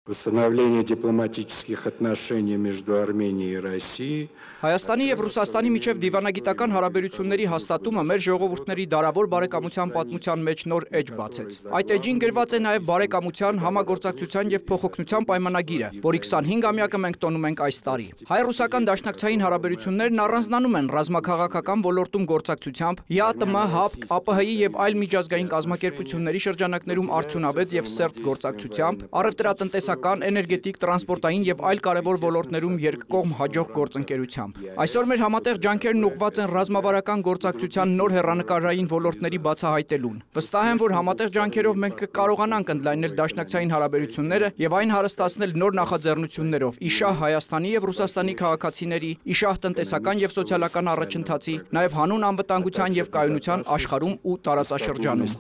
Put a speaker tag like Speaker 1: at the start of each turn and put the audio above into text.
Speaker 1: Установление дипломатических отношений между Арменией и Россией.
Speaker 2: Հայաստանի եւ Ռուսաստանի միջև դիվանագիտական հարաբերությունների հաստատումը մեր ժողովուրդների դարավոր բարեկամության պատմության մեջ նոր էջ բացեց։ Այդ էջին գրված է նաեւ բարեկամության, համագործակցության եւ փոխօգնության պայմանագիրը, որի 25-ամյակը մենք տոնում ենք այս տարի։ Հայ-ռուսական դաշնակցային հարաբերություններն առանձնանում են ռազմաքաղաքական ոլորտում գործակցությամբ, ԵԱՏՄ, ՀԱՊԿ, ԱՊՀ-ի եւ այլ միջազգային կազմակերպությունների շրջանակներում արդյունավետ եւ սերտ գործակցությամբ, առևտրատնտեսական, էներգետիկ, տրանսպորտային եւ այլ կարեւոր ոլորտներում երկկողմ հաջող գործընկերությամբ։ Այսօր մեր համատեղ ջանքերն ուղղված են ռազմավարական գործակցության նոր հեռանկարային ոլորտների բացահայտելուն։ Վստահ եմ, որ համատեղ ջանքերով մենք կկարողանանք ընդլայնել դաշնակցային հարաբերությունները եւ այն հարստացնել նոր նախաձեռնություններով՝ իշահ Հայաստանի եւ Ռուսաստանի քաղաքացիների, իշահ տնտեսական եւ սոցիալական առաջընթացի, նաեւ հանուն անվտանգության եւ կայունության աշխարհում ու տարածաշրջանում։